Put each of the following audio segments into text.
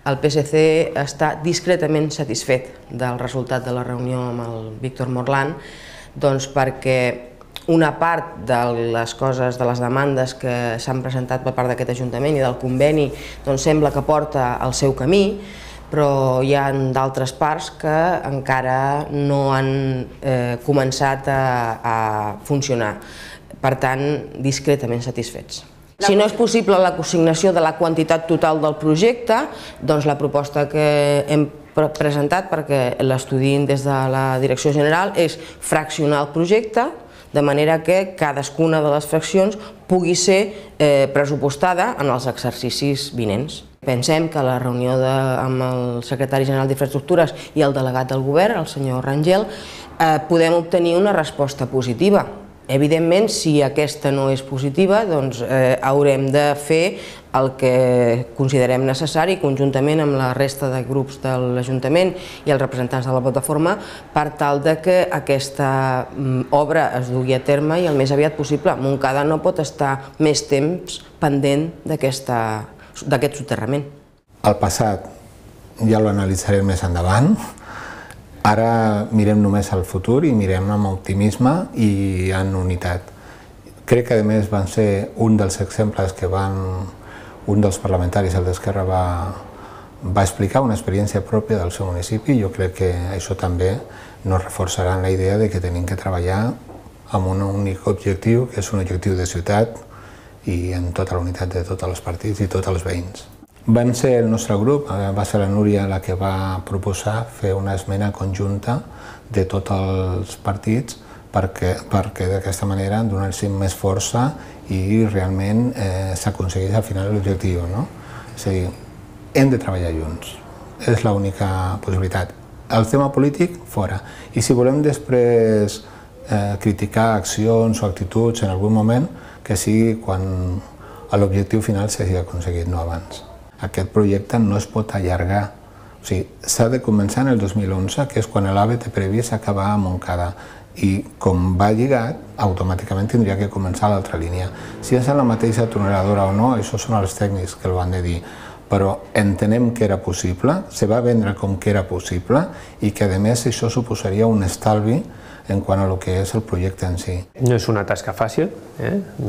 El PSC està discretament satisfet del resultat de la reunió amb el Víctor Morland, doncs perquè una part de les coses, de les demandes que s'han presentat per part d'aquest Ajuntament i del conveni, doncs sembla que porta el seu camí, però hi ha d'altres parts que encara no han començat a funcionar. Per tant, discretament satisfets. Si no és possible la consignació de la quantitat total del projecte, doncs la proposta que hem presentat, perquè l'estudiïn des de la Direcció General, és fraccionar el projecte, de manera que cadascuna de les fraccions pugui ser pressupostada en els exercicis vinents. Pensem que a la reunió amb el secretari general d'Infraestructures i el delegat del govern, el senyor Rangel, podem obtenir una resposta positiva. Evidentment, si aquesta no és positiva, doncs haurem de fer el que considerem necessari, conjuntament amb la resta de grups de l'Ajuntament i els representants de la plataforma, per tal que aquesta obra es dugui a terme i el més aviat possible. Montcada no pot estar més temps pendent d'aquest soterrament. El passat ja l'analitzarem més endavant. Ara mirem només al futur i mirem amb optimisme i en unitat. Crec que, a més, van ser un dels exemples que un dels parlamentaris, el d'Esquerra, va explicar una experiència pròpia del seu municipi. Jo crec que això també nos reforçarà en la idea de que tenim que treballar amb un únic objectiu, que és un objectiu de ciutat i amb tota la unitat de tots els partits i tots els veïns. Van ser el nostre grup, va ser la Núria la que va proposar fer una esmena conjunta de tots els partits perquè d'aquesta manera donar-los més força i realment s'aconsegueix al final l'objectiu. És a dir, hem de treballar junts, és l'única possibilitat. El tema polític, fora. I si volem després criticar accions o actituds en algun moment, que sigui quan l'objectiu final s'hagi aconseguit, no abans. Aquest projecte no es pot allargar. S'ha de començar en el 2011, que és quan l'AVE té previst acabar a Montcada. I com va lligat, automàticament tindria que començar l'altra línia. Si és a la mateixa tuneladora o no, això són els tècnics que ho han de dir. Però entenem que era possible, se va vendre com que era possible i que, a més, això suposaria un estalvi en quant a el que és el projecte en si. No és una tasca fàcil,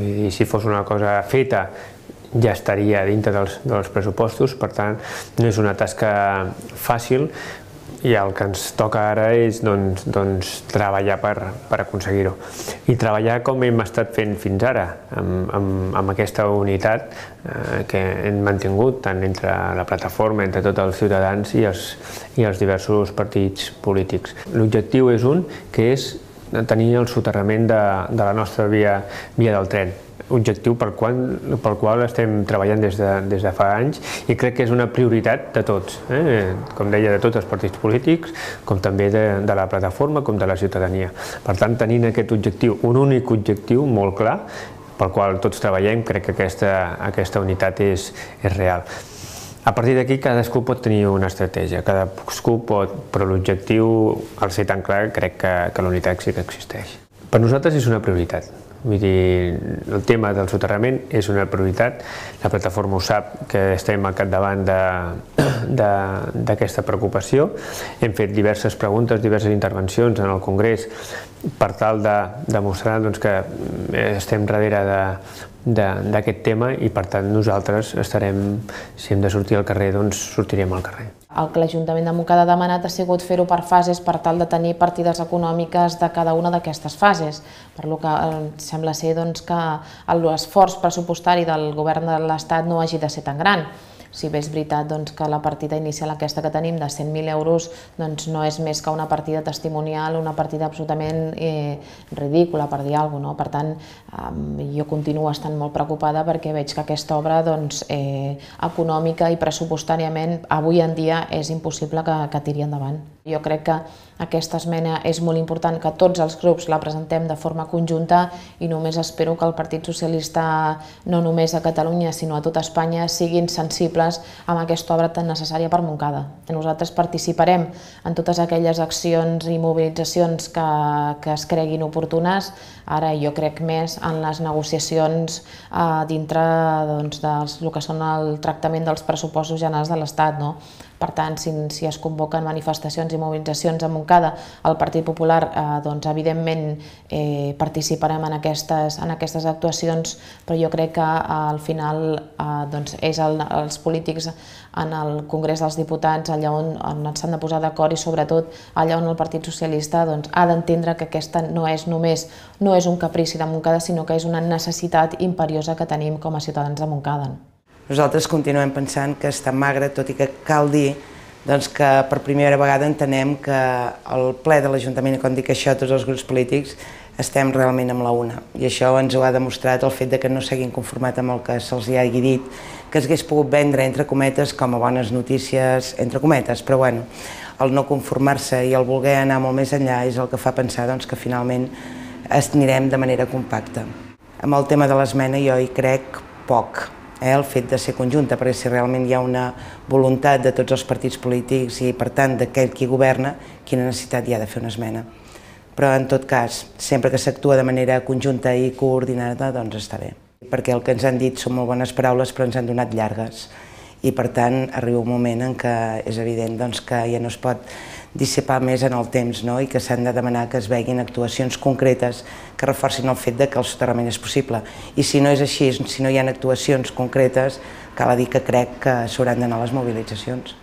i si fos una cosa feta ja estaria dintre dels pressupostos, per tant, no és una tasca fàcil i el que ens toca ara és treballar per aconseguir-ho. I treballar com hem estat fent fins ara, amb aquesta unitat que hem mantingut tant entre la plataforma, entre tots els ciutadans i els diversos partits polítics. L'objectiu és un, que és tenir el soterrament de la nostra via del tren. Objectiu pel qual estem treballant des de fa anys i crec que és una prioritat de tots, com deia, de tots els partits polítics, com també de la plataforma, com de la ciutadania. Per tant, tenint aquest objectiu, un únic objectiu molt clar, pel qual tots treballem, crec que aquesta unitat és real. A partir d'aquí, cadascú pot tenir una estratègia, cadascú pot, però l'objectiu, al ser tan clar, crec que la unitat sí que existeix. Per nosaltres és una prioritat. Vull dir, el tema del soterrament és una prioritat. La plataforma ho sap, que estem al capdavant d'aquesta preocupació. Hem fet diverses preguntes, diverses intervencions en el Congrés per tal de demostrar que estem darrere d'aquest tema i, per tant, nosaltres estarem, si hem de sortir al carrer, doncs sortirem al carrer. El que l'Ajuntament de Montcada ha demanat ha sigut fer-ho per fases per tal de tenir partides econòmiques de cada una d'aquestes fases, per lo que sembla ser que l'esforç pressupostari del govern de l'Estat no hagi de ser tan gran. Si bé és veritat que la partida inicial aquesta que tenim de 100.000 euros no és més que una partida testimonial, una partida absolutament ridícula, per dir alguna cosa. Per tant, jo continuo estant molt preocupada perquè veig que aquesta obra econòmica i pressupostàriament avui en dia és impossible que tiri endavant. Jo crec que aquesta esmena és molt important que tots els grups la presentem de forma conjunta i només espero que el Partit Socialista, no només a Catalunya sinó a tota Espanya, siguin sensibles compatibles amb aquesta obra tan necessària per Montcada. Nosaltres participarem en totes aquelles accions i mobilitzacions que es creguin oportunes, ara jo crec més en les negociacions dintre del que són el tractament dels pressupostos generals de l'Estat. Per tant, si es convoquen manifestacions i mobilitzacions a Montcada, el Partit Popular, evidentment, participarem en aquestes actuacions, però jo crec que al final és els polítics en el Congrés dels Diputats allà on s'han de posar d'acord i sobretot allà on el Partit Socialista ha d'entendre que aquesta no és un caprici de Montcada, sinó que és una necessitat imperiosa que tenim com a ciutadans de Montcada. Nosaltres continuem pensant que està magre, tot i que cal dir que per primera vegada entenem que el ple de l'Ajuntament, i quan dic això tots els grups polítics, estem realment amb la una. I això ens ho ha demostrat el fet que no s'hagin conformat amb el que se'ls hagi dit, que s'hagués pogut vendre, entre cometes, com a bones notícies, entre cometes, però bueno, el no conformar-se i el voler anar molt més enllà és el que fa pensar que finalment anirem de manera compacta. Amb el tema de l'esmena jo hi crec poc. El fet de ser conjunta, perquè si realment hi ha una voluntat de tots els partits polítics i per tant d'aquell qui governa, quina necessitat hi ha de fer una esmena. Però en tot cas, sempre que s'actua de manera conjunta i coordinada, doncs està bé. Perquè el que ens han dit són molt bones paraules però ens han donat llargues i per tant arriba un moment en què és evident que ja no es pot dissipar més en el temps i que s'han de demanar que es veguin actuacions concretes que reforcin el fet que el soterrament és possible. I si no és així, si no hi ha actuacions concretes, cal dir que crec que s'hauran d'anar a les mobilitzacions.